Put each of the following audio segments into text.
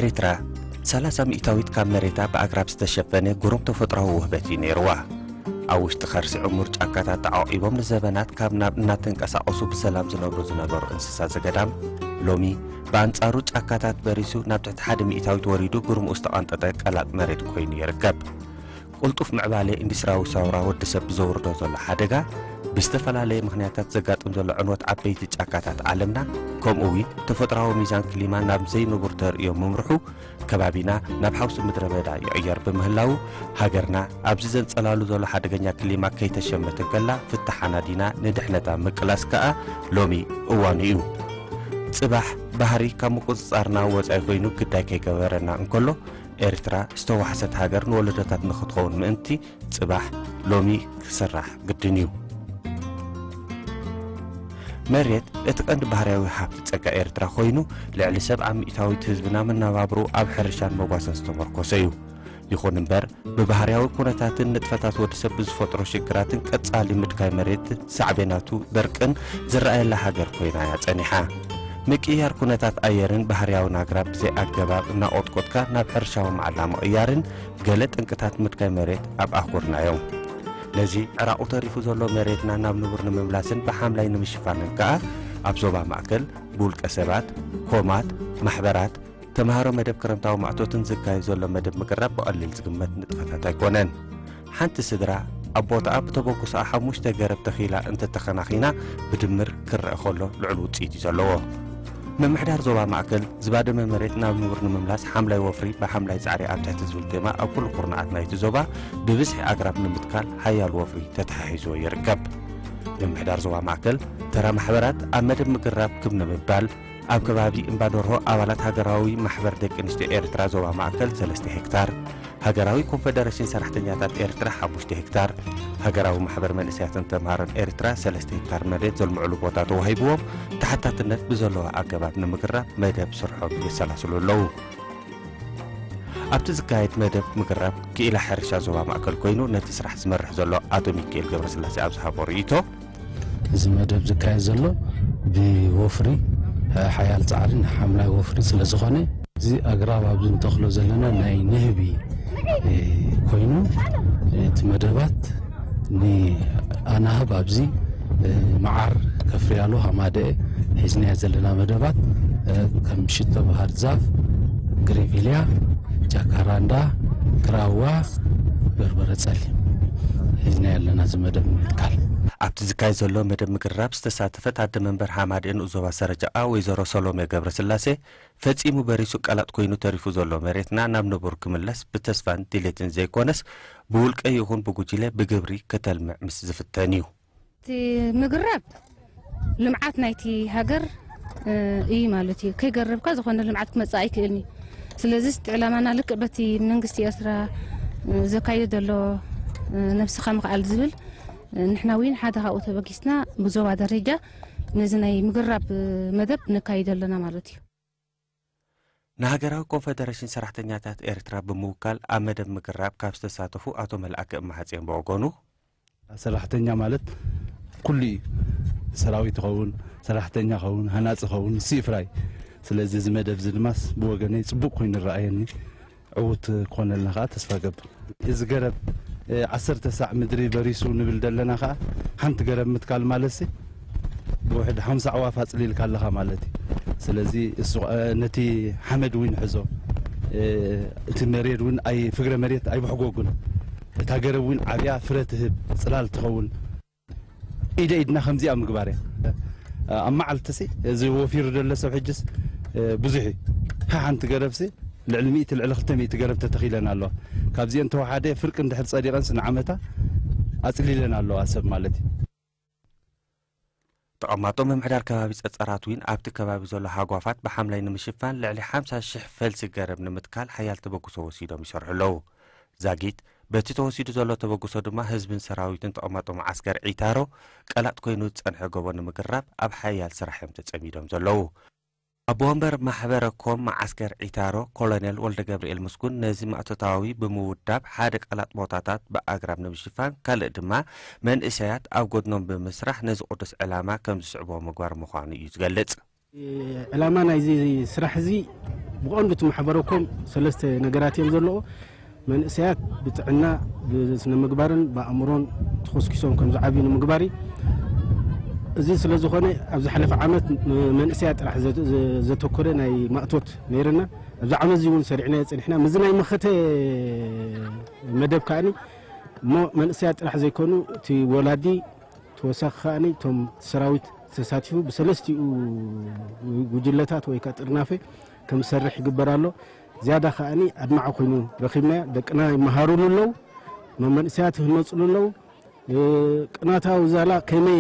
ኤርትራ ሰላሳ ሚእታዊት ካብ መሬታ ብኣግራብ ዝተሸፈነ ግሩም ተፈጥሮኣዊ ውህበት እዩ ነይርዋ። ኣብ ውሽጢ ከርሲ ዕሙር ጫካታት ተዓቂቦም ንዘበናት ካብ ናብ እናተንቀሳቐሱ ብሰላም ዝነብሩ ዝነበሩ እንስሳ ዘገዳም፣ ሎሚ ብኣንጻሩ ጫካታት በሪሱ ናብ ትሕቲ ሓደ ሚእታዊት ወሪዱ ግርምኡ ዝተቐንጠጠ ቀላጥ መሬት ኮይኑ ይርከብ። ቅልጡፍ ምዕባለ ኢንዱስትሪያዊ ሰውራ ወዲ ሰብ ብዘውርዶ ዘሎ ሓደጋ፣ ብዝተፈላለየ ምኽንያታት ዘጋጥም ዘሎ ዕንወት ዓበይቲ ጫካታት ዓለምና፣ ከምኡ እውን ተፈጥሮኣዊ ሚዛን ክሊማ ናብ ዘይንቡር ተርእዮ ምምርሑ፣ ከባቢና ናብ ሓውሲ ምድረ በዳ ይቕየር ብምህላዉ፣ ሃገርና ኣብዚ ዘንጸላሉ ዘሎ ሓደገኛ ክሊማ ከይተሸመተ ከላ ፍታሕ ኣናዲና ንድሕነታ ምቅላስ ከኣ ሎሚ እዋኑ እዩ። ጽባሕ ባህሪ ካብ ምቁጽጻርና ወጻኢ ኮይኑ ግዳይ ከይገበረና እንከሎ፣ ኤርትራ ዝተዋሕሰት ሃገር ንወለዶታት ንኽትኸውን ምእንቲ ጽባሕ ሎሚ ክስራሕ ግድን እዩ። መሬት እቲ ቀንዲ ባህርያዊ ሃብቲ ጸጋ ኤርትራ ኮይኑ፣ ልዕሊ ሰብዓ ሚእታዊት ህዝብና መነባብርኡ ኣብ ሕርሻን መጓሰን ዝተመርኮሰ እዩ። ይኹን እምበር፣ ብባህርያዊ ኩነታትን ንጥፈታት ወዲ ሰብ ብዝፈጥሮ ሽግራትን ቀጻሊ ምድካይ መሬት ሳዕቤናቱ ደርቅን ዝረኣየላ ሃገር ኮይና እያ ጸኒሓ። ምቅይያር ኩነታት ኣየርን ባህርያውን ኣግራብ ብዘይ ኣገባብ እናቖጥቆጥካ ናብ ሕርሻዊ መዓላ ምቕያርን ገለ ጠንቅታት ምድካይ መሬት ኣብ ኣህጉርና እዮም። ነዚ ዕራቑ ተሪፉ ዘሎ መሬትና ናብ ንቡር ንምምላስን ብሓምላይ ንምሽፋንን ከኣ ኣብ ዞባ ማእከል ብውልቀ ሰባት፣ ኮማት፣ ማሕበራት፣ ተምሃሮ መደብ ክረምታዊ ማእቶትን ዝካየድ ዘሎ መደብ ምቅራብ ብቐሊል ዝግመት ንጥፈታት ኣይኮነን። ሓንቲ ስድራ ኣብ ቦታኣ ብተበግሶኣ ሓሙሽተ ገረብ ተኺላ እንተተኸናኺና ብድምር ክረአ ከሎ ልዑል ውጽኢት እዩ ዘለዎ። ምምሕዳር ዞባ ማእከል ዝባደመ መሬት ናብ ንቡር ንምምላስ ሓምላይ ወፍሪ ብሓምላይ ጻዕሪ ኣብ ትሕቲ ዝብል ቴማ ኣብ ኩሉ ኩርናዓት ናይቲ ዞባ ብብዝሒ ኣግራብ ንምትካል ሓያል ወፍሪ ተተሓሒዝዎ ይርከብ። ምምሕዳር ዞባ ማእከል ተራ ማሕበራት ኣብ መደብ ምግራብ ክብ ንምባል ኣብ ከባቢ እምባደርሆ ኣባላት ሃገራዊ ማሕበር ደቂ ኣንስትዮ ኤርትራ ዞባ ማእከል ሰለስተ ሄክታር፣ ሃገራዊ ኮንፈደረሽን ሰራሕተኛታት ኤርትራ ሓሙሽተ ሄክታር፣ ሃገራዊ ማሕበር መንእሰያትን ተምሃሮን ኤርትራ ሰለስተ ሄክታር መሬት ዘልምዕሉ ቦታ ተዋሂብዎም ተሓታትነት ብዘለዎ ኣገባብ ንምግራብ መደብ ስርሖም የሰላስሉ ኣለዉ። ኣብቲ ዝካየድ መደብ ምግራብ ክኢላ ሕርሻ ዞባ ማእከል ኮይኑ ነቲ ስራሕ ዝመርሕ ዘሎ ኣቶ ሚካኤል ገብረስላሴ ኣብ ዝሃቦ ርእይቶ፣ እዚ መደብ ዝካየድ ዘሎ ብወፍሪ ሓያል ጻዕሪ ንሓምላይ ወፍሪ ስለ ዝኾነ፣ እዚ ኣግራብ ኣብዚ ንተኽሎ ዘለና ናይ ንህቢ ኮይኑ፣ እቲ መደባት ንኣናህብ ኣብዚ መዓር ከፍርያሉ ሃማደኤ ሒዝናዮ ዘለና መደባት ከም ሽቶ ባህር ዛፍ፣ ግሪቪልያ፣ ጃካራንዳ፣ ግራዋ፣ በርበረ ጸሊም ሒዝናዮ ኣለና። እዚ መደብ ንምትካል ኣብቲ ዝካየድ ዘሎ መደብ ምግራብ ዝተሳተፈት ኣደ መንበር ሃማደኤ ንኡስ ዞባ ሰረጃኣ ወይዘሮ ሰሎሜ ገብረስላሴ፣ ፈጺሙ በሪሱ ቀላጥ ኮይኑ ተሪፉ ዘሎ መሬትና ናብ ንቡር ክምለስ ብተስፋን ድሌትን ዘይኮነስ፣ ብውልቀ ይኹን ብጉጅለ ብግብሪ ከተልምዕ ምስ ዝፍተን እዩ። እቲ ምግራብ ልምዓት ናይቲ ሃገር እዩ ማለት እዩ። ከይገረብካ ዝኾነ ልምዓት ክመጽእ ኣይክእልን እዩ። ስለዚ እቲ ዕላማና ልክዕ በቲ መንግስቲ ኤርትራ ዘካይዶ ዘሎ ነብስኻ ምኽኣል ዝብል፣ ንሕና እውን ሓደ ካብኡ ተበጊስና ብዞባ ደረጃ ነዚ ናይ ምግራብ መደብ ነካይዶ ኣለና ማለት እዩ። ንሃገራዊ ኮንፈደረሽን ሰራሕተኛታት ኤርትራ ብምውካል ኣብ መደብ ምግራብ ካብ ዝተሳተፉ ኣቶ መልኣከ እማሃጽዮን ብወገኑ፣ ሰራሕተኛ ማለት ኩሉ እዩ። ሰራዊት ይኸውን፣ ሰራሕተኛ ይኸውን፣ ሃናጺ ይኸውን፣ ንሱ እዩ ፍራይ። ስለዚ እዚ መደብ እዚ ድማስ ብወገነይ ጽቡቕ ኮይኑ ይረኣየኒ። ዕዉት ክኾነልና ከዓ ተስፋ ገብር። እዚ ገረብ ዓሰርተ ሳዕ ምድሪ በሪሱ ንብል ዘለና ከዓ ሓንቲ ገረብ ምትካል ማለት ሲ ብውሕድ ሓምሳ ኣዕዋፍ ኣፅሊልካ ኣለኻ ማለት እዩ። ስለዚ እሱ ነቲ ሓመድ እውን ይሕዞ፣ እቲ መሬት እውን ኣይ ፍግረ መሬት ኣይብሕጎጉን። እታ ገረብ እውን ዓብያ ፍረ ትህብ፣ ፅላል ትኸውን። ኢደ ኢድና ከምዚኣ ምግባር እያ። ኣብ መዓልቲ ሲ እዚ ወፊሩ ደሎ ሰብ ሕጅስ ብዙሕ እዩ። ሓንቲ ገረብ ሲ ልዕሊ ሚእቲ ልዕሊ ክልተ ሚእቲ ገረብ ተተኺለን ኣለዋ። ካብዚአን ተወሓደ ፍርቂ እንድሕር ፀዲቐን ስንዓመታ ኣፅሊለን ኣለዋ ሰብ ማለት እዩ። ተቐማጦ ምምሕዳር ከባቢ ጸጸራት እውን ኣብቲ ከባቢ ዘሎ ሃጓፋት ብሓምላይ ንምሽፋን ልዕሊ ሓምሳ ሽሕ ፈልሲ ገረብ ንምትካል ሓያል ተበግሶ ወሲዶም ይሰርሑ ኣለዉ። ዛጊት በቲ ተወሲዱ ዘሎ ተበግሶ ድማ ህዝብን ሰራዊትን ተቐማጦ መዓስከር ዒታሮ ቀላጥ ኮይኑ ዝጸንሐ ጎቦ ንምግራብ ኣብ ሓያል ስራሕ እዮም ተጸሚዶም ዘለዉ። ኣቦ ወንበር ማሕበረ ኮም መዓስከር ዒታሮ ኮሎኔል ወልደ ገብርኤል ምስጉን ነዚ ማእቶታዊ ብምውዳብ ሓደ ቀላጥ ቦታታት ብኣግራብ ንምሽፋን ካልእ ድማ መንእሰያት ኣብ ጎድኖም ብምስራሕ ነዚ ቅዱስ ዕላማ ከም ዝስዕቦ ምግባር ምዃኑ እዩ ዝገልጽ። ዕላማ ናይዚ ስራሕ እዚ ብቐንዱ እቲ ማሕበረኮም ሰለስተ ነገራት እዮም ዘለዎ። መንእሰያት ብጥዕና፣ ብስነ ምግባርን ብኣእምሮን ተኾስኪሶም ከም ዝዓብዩ ንምግባር እዩ። እዚ ስለ ዝኾነ፣ ኣብ ዝሓለፈ ዓመት መንእሰያት ጥራሕ ዘ-፣ ዘ-፣ ዘተኮረ ናይ ማእቶት ነይርና። ኣብዚ ዓመት እዚ እውን ሰሪዕናዮ ጸኒሕና። ምስዚ ናይ መኸተ መደብ ከኣኒ እሞ መንእሰያት ጥራሕ ዘይኮኑ፣ እቲ ወላዲ፣ ተወሳኺ ከኣኒ እቶም ሰራዊት ተሳቲፉ ብሰለስቲኡ ጉጅለታት ወይ ከኣ ጥርናፈ ከም ዝሰርሕ ይግበር ኣሎ። ዝያዳ ከኣኒ ኣድማዒ ኮይኑ ረኺብናዮ። ደቅና ይመሃሩሉ ኣለዉ፣ መመንእሰያት ይህነጹሉ ኣለዉ። እ፣ ቅናታዊ ዛላ ከመይ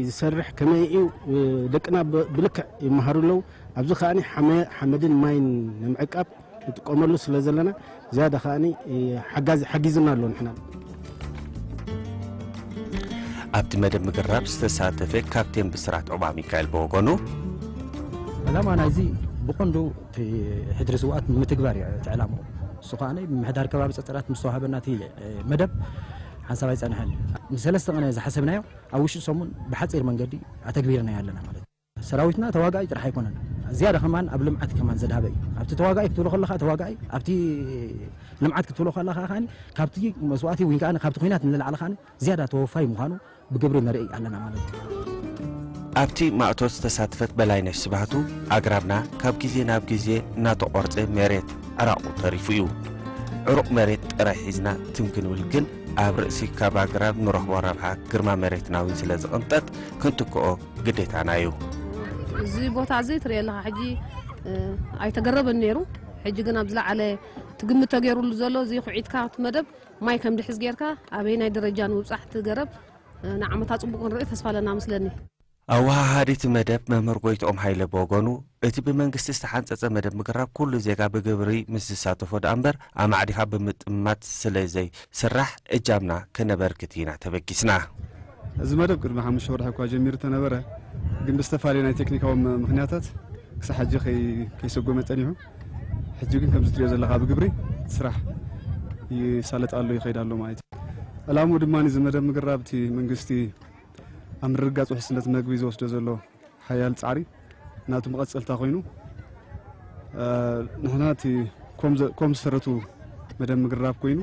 ዝሰርሕ፣ ከመይ እዩ፣ እ፣ ደቅና ብ-፣ ብልክዕ ይመሃሩ ኣለዉ። ኣብዚ ከኣኒ ሓመ-፣ ሓመድን ማይን ንምዕቃብ ንጥቀመሉ ስለ ዘለና፣ ዝያዳ ከኣኒ፣ እ፣ ሓጋዚ-፣ ሓጊዝና ኣሎ ንሕና። ኣብቲ መደብ ምግራብ ዝተሳተፈ ካፕቴን ብስራት ዑባ ሚካኤል ብወገኑ፣ ዕላማ ናይዚ ብቐንዱ እቲ ሕድሪ ስውኣት ንምትግባር እዩ እቲ ዕላምኡ። እሱ ከኣ ምምሕዳር ከባቢ ጸጸራት ምስ ተዋህበና እቲ፣ እ፣ መደብ ሓንሳብ ኣይጸንሐን። ንሰለስተ ቀን ዝሓሰብናዮ ኣብ ውሽጢ ሰሙን ብሓጺር መንገዲ ኣተግቢርናዮ ኣለና ማለት እዩ። ሰራዊትና ተዋጋኢ ጥራሕ ኣይኮነን፣ ዝያዳ ከማን ኣብ ልምዓት ከማን ዘድሃበ እዩ። ኣብቲ ተዋጋኢ ክትብሎ ከለኻ ተዋጋኢ፣ ኣብቲ ልምዓት ክትብሎ ከለኻ ከኣ ካብቲ መስዋእቲ ወይ ከኣ ካብቲ ኲናት ንላዕሊ ከኣ ዝያዳ ተወፋይ ምዃኑ ብግብሪ ንርኢ ኣለና ማለት እዩ። ኣብቲ ማእቶት ዝተሳተፈት በላይነሽ ስብሃቱ፣ ኣግራብና ካብ ግዜ ናብ ግዜ እናተቖርጸ መሬት ዕራቑ ተሪፉ እዩ። ዕሩቕ መሬት ጥራይ ሒዝና ትም ክንብል ግን፣ ኣብ ርእሲ ካብ ኣግራብ ንረኽቦ ረብሓ ግርማ መሬትና እውን ስለ ዝቕንጠጥ ክንትክኦ ግዴታና እዩ። እዚ ቦታ እዚ ትሪኦ ኣለኻ፣ ሕጂ፣ እ፣ ኣይተገረበን ነይሩ። ሕጂ ግን ኣብ ዝለዓለ ትግምት ተገይሩሉ ዘሎ፣ እዚ ኩዒትካ እቲ መደብ ማይ ከም ድሕዝ ጌርካ ኣበየናይ ደረጃ ንምብጻሕ እቲ ገረብ፣ እ፣ ንዓመታ ጽቡቕ ክንርኢ ተስፋ ኣለና መስለኒ። ኣወሃሃዲት መደብ መምህር ጎይትኦም ሃይለ ብወገኑ፣ እቲ ብመንግስቲ ዝተሓንጸጸ መደብ ምግራብ ኩሉ ዜጋ ብግብሪ ምስ ዝሳተፎ ደኣ እምበር ኣማዕዲኻ ብምጥማት ስለ ዘይስራሕ እጃምና ከነበርክት ኢና ተበጊስና። እዚ መደብ ቅድሚ ሓሙሽተ ወርሒ እኳ ጀሚሩ ተነበረ፣ ግን ብዝተፈላለየ ናይ ቴክኒካዊ ም-፣ ምኽንያታት ክሳብ ሕጂ ከይ-፣ ከይሰጎመ ጸኒሑ። ሕጂ ግን ከምዚ ትሪኦ ዘለኻ ብግብሪ ስራሕ ይሳለጥ ኣሎ፣ ይኸይድ ኣሎ ማለት እዩ። ዕላምኡ ድማ እዚ መደብ ምግራብ እቲ መንግስቲ ኣብ ምርግጋጽ ውሕስነት መግቢ ዝወስዶ ዘሎ ሓያል ጻዕሪ ናቱ መቐጸልታ ኮይኑ፣ እ፣ ንሕና እቲ ኮም ዘ-፣ ኮም ዝሰረቱ መደብ ምግራብ ኮይኑ፣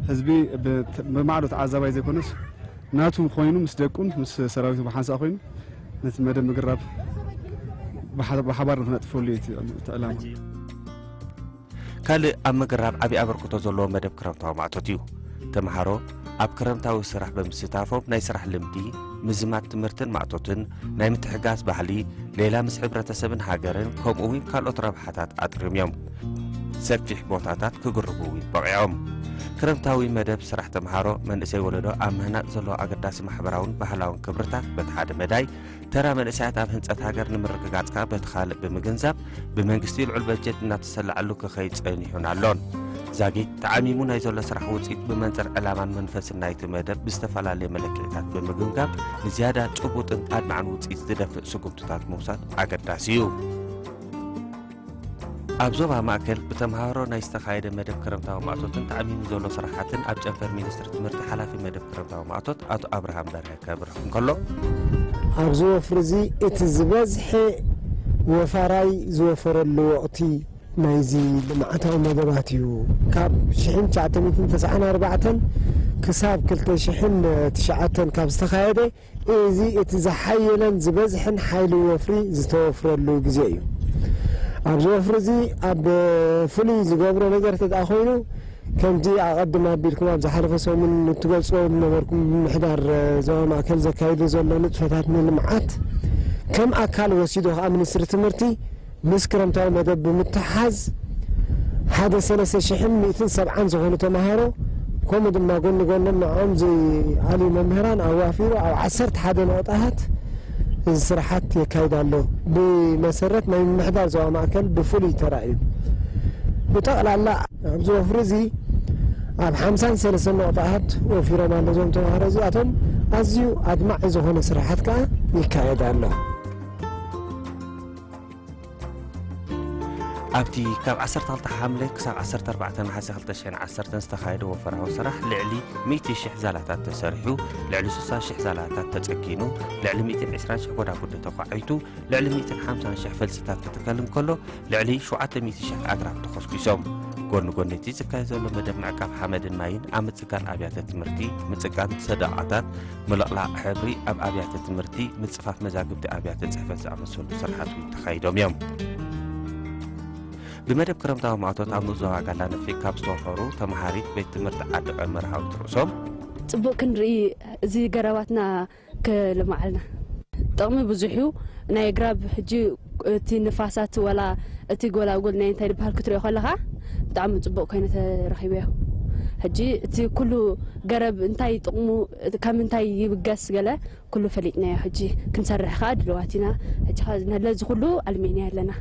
ህዝቢ ብ-፣ ብማዕዶ ተዓዛባይ ዘይኮነስ ናቱ ኮይኑ ምስ ደቁን ምስ ሰራዊቱ ብሓንሳእ ኮይኑ ነቲ መደብ ምግራብ ብሓ-፣ ብሓባር ንክነጥፈሉ እዩ እቲ፣ እቲ ዕላማ። ካልእ ኣብ ምግራብ ዓቢ ኣበርክቶ ዘለዎ መደብ ክረምታዊ ማእቶት እዩ። ተምሃሮ ኣብ ክረምታዊ ስራሕ ብምስታፎም ናይ ስራሕ ልምዲ፣ ምዝማድ ትምህርትን ማእቶትን፣ ናይ ምትሕጋዝ ባህሊ፣ ሌላ ምስ ሕብረተሰብን ሃገርን፣ ከምኡ እውን ካልኦት ረብሓታት ኣጥርዮም እዮም። ሰፊሕ ቦታታት ክግርቡ እውን በቒዖም። ክረምታዊ መደብ ስራሕ ተምሃሮ፣ መንእሰይ ወለዶ ኣብ ምህናጽ ዘለዎ ኣገዳሲ ማሕበራውን ባህላውን ክብርታት በቲ ሓደ መዳይ፣ ተራ መንእሰያት ኣብ ህንጸት ሃገር ንምርግጋጽ ከኣ በቲ ካልእ ብምግንዛብ፣ ብመንግስቲ ልዑል በጀት እናተሰላዐሉ ክኸይድ ጸኒሑን ኣሎን። ዛጊት ተዓሚሙ ናይ ዘሎ ስራሕ ውጽኢት ብመንጽር ዕላማን መንፈስን ናይቲ መደብ ብዝተፈላለየ መለክዒታት ብምግምጋም፣ ንዝያዳ ጭቡጥን ኣድማዕን ውጽኢት ዝደፍእ ስጉምትታት ምውሳድ ኣገዳሲ እዩ። ኣብ ዞባ ማእከል ብተምሃሮ ናይ ዝተኻየደ መደብ ክረምታዊ ማእቶትን ተዓሚሙ ዘሎ ስራሓትን ኣብ ጨንፈር ሚኒስትሪ ትምህርቲ ሓላፊ መደብ ክረምታዊ ማእቶት ኣቶ ኣብርሃም በርሀ ከብርህ እንከሎ፣ ኣብዚ ወፍሪ እዚ እቲ ዝበዝሐ ወፋራይ ዝወፈረሉ ወቕቲ ናይዚ ልምዓታዊ መደባት እዩ። ካብ ሽሕን ትሽዓተ ሚእትን ተስዓን ኣርባዕተን ክሳብ ክልተ ሽሕን ትሽዓተን ካብ ዝተኻየደ፣ እዚ እቲ ዝሓየለን ዝበዝሐን ሓይሊ ወፍሪ ዝተወፍረሉ ግዜ እዩ። ኣብዚ ወፍሪ እዚ ኣብ ፍሉይ ዝገብሮ ነገር እንተ ደኣ ኮይኑ፣ ከምቲ ኣቐድም ኣቢልኩም ኣብ ዝሓለፈ ሰሙን እትገልጽዎ ዝነበርኩም፣ ምምሕዳር ዞባ ማእከል ዘካይዶ ዘሎ ንጥፈታት ንልምዓት ከም ኣካል ወሲዱ ከኣ ሚኒስትሪ ትምህርቲ ምስ ክረምታዊ መደብ ብምትሓዝ ሓደ ሰለስተ ሽሕን ሚእትን ሰብዓን ዝኾኑ ተምሃሮ፣ ከምኡ ድማ ጎኒ ጎኖም ንዕኦም ዝኣልዩ መምህራን ኣዋፊሩ ኣብ ዓሰርተ ሓደ ነቑጣታት እዚ ስራሓት የካይድ ኣሎ። ብመሰረት ናይ ምምሕዳር ዞባ ማእከል ብፍሉይ ተራእዩ። ብጠቕላላ ኣብዚ ወፍሪ እዚ ኣብ ሓምሳን ሰለስተን ነቑጣታት ወፊሮም ኣሎ እዞም ተምሃሮ እዚኣቶም። ኣዝዩ ኣድማዒ ዝኾነ ስራሓት ከኣ ይካየድ ኣሎ። ኣብቲ ካብ ዓሰርተ ክልተ ሓምለ ክሳብ ዓሰርተ ኣርባዕተ ነሓሰ ክልተ ሽሕን ዓሰርተን ዝተኻየደ ወፈራዊ ስራሕ ልዕሊ ሚእቲ ሽሕ ዛላታት ተሰሪሑ፣ ልዕሊ ስሳ ሽሕ ዛላታት ተጸጊኑ፣ ልዕሊ ሚእትን ዕስራን ሽሕ ጎዳጉዲ ተኳዒቱ፣ ልዕሊ ሚእትን ሓምሳን ሽሕ ፈልስታት ክትከል እንከሎ፣ ልዕሊ ሸውዓተ ሚእቲ ሽሕ ኣግራብ ተኾስኲሶም። ጎኒ ጎኒ እቲ ዝካየድ ዘሎ መደብ ምዕቃብ ሓመድን ማይን ኣብ ምጽጋን ኣብያተ ትምህርቲ፣ ምጽጋን ሰደቓታት፣ ምልቕላቕ ሕብሪ ኣብ ኣብያተ ትምህርቲ፣ ምጽፋፍ መዛግብቲ ኣብያተ ጽሕፈት ዝኣመሰሉ ስራሓት እውን ተኻይዶም እዮም። ብመደብ ክረምታዊ ማእቶት ኣብ ንኡስ ዞባ ጋላ ነፍሒ ካብ ዝተወፈሩ ተምሃሪት ቤት ትምህርቲ ዓዲ ቀመር ሃዊት ርእሶም፣ ጽቡቕ ክንርኢ፣ እዚ ገረባትና ክልማዓልና። ጥቕሚ ብዙሕ እዩ። ናይ ኣግራብ ሕጂ እቲ ንፋሳት ወላ እቲ ጎላጉል ናይ እንታይ ዝበሃል ክትሪኦ ከለኻ ብጣዕሚ ጽቡቕ ኮይኑ ተረኺበዮ። ሕጂ እቲ ኩሉ ገረብ እንታይ ጥቕሙ፣ ካብ ምንታይ ይብገስ ገለ ኩሉ ፈሊጥናዮ። ሕጂ ክንሰርሕ ከኣ ድልዋት ኢና። ሕጂ ከኣ ነለዚ ኩሉ ኣልሚዕናዮ ኣለና።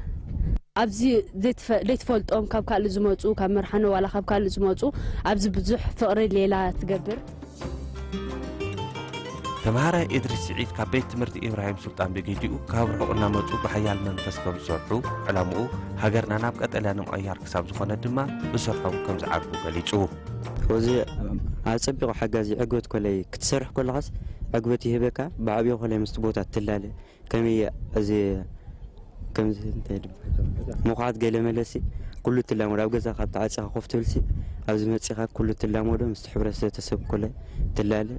ኣብዚ ዘይትፈ-፣ ዘይትፈልጦም ካብ ካልእ ዝመጹ፣ ካብ መርሓኖ ዋላ ካብ ካልእ ዝመጹ፣ ኣብዚ ብዙሕ ፍቕሪ ሌላ ትገብር። ተምሃራይ ኢድሪስ ስዒድ ካብ ቤት ትምህርቲ ኢብራሂም ሱልጣን ብግዲኡ ካብ ርሑቕ እናመጹ ብሓያል መንፈስ ከም ዝሰርሑ፣ ዕላምኡ ሃገርና ናብ ቀጠልያ ንምቕያር ክሳብ ዝኾነ ድማ ብስርሖም ከም ዝዓግቡ ገሊጹ። እዚ ኣጸቢቑ ሓጋዚ ዕግበት ኮለይ ክትሰርሕ ከለኻስ ዕግበት ይህበካ፣ ብዓብዮ ኮለይ ምስቲ ቦታ ትላለ። ከመይ እዚ ከምዚ እንታይ ድም-፣ ምኹዓት ገለ መለሲ ኩሉ ትላመዶ፣ ኣብ ገዛ ካብ ተዓጺኻ ኮፍ ትብልሲ፣ ኣብዚ መጺኻ ኩሉ ትላመዶ፣ ምስቲ ሕብረተሰብ ኮለ ትላለ፣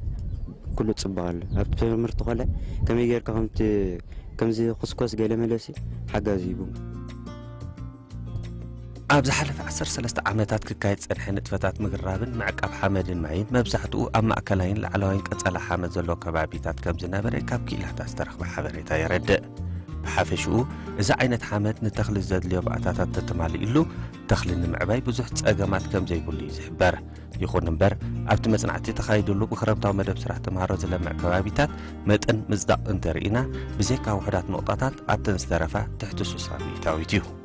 ኩሉ ጽቡቕ ኣሎ። ኣብ ትምህርቲ ኮለ ከመይ ጌርካ ከምቲ፣ ከምዚ ኩስኮስ ገለ መለሲ ሓጋዚ ይቡ። ኣብ ዝሓለፈ ዓሰርተ ሰለስተ ዓመታት ክካየድ ዝጸንሐ ንጥፈታት ምግራብን ምዕቃብ ሓመድን ማይን መብዛሕትኡ ኣብ ማእከላይን ላዕለዋይን ቀጸላ ሓመድ ዘለዎ ከባቢታት ከም ዝነበረ ካብ ክኢላታት ዝተረኽበ ሓበሬታ የረድእ። ብሓፈሽኡ፣ እዚ ዓይነት ሓመድ ንተኽሊ ዘድልዮ ባእታታት ተተማሊእሉ፣ ተኽሊ ንምዕባይ ብዙሕ ጸገማት ከም ዘይብሉ እዩ ዝሕበር። ይኹን እምበር፣ ኣብቲ መጽናዕቲ ተኻይድሉ ብክረምታዊ መደብ ስራሕ ተምሃሮ ዝለምዕ ከባቢታት መጠን ምጽዳቕ እንተርኢና፣ ብዘይካ ውሑዳት ነቑጣታት ኣብተን ዝተረፋ ትሕቲ ስሳ ሚእታዊት እዩ።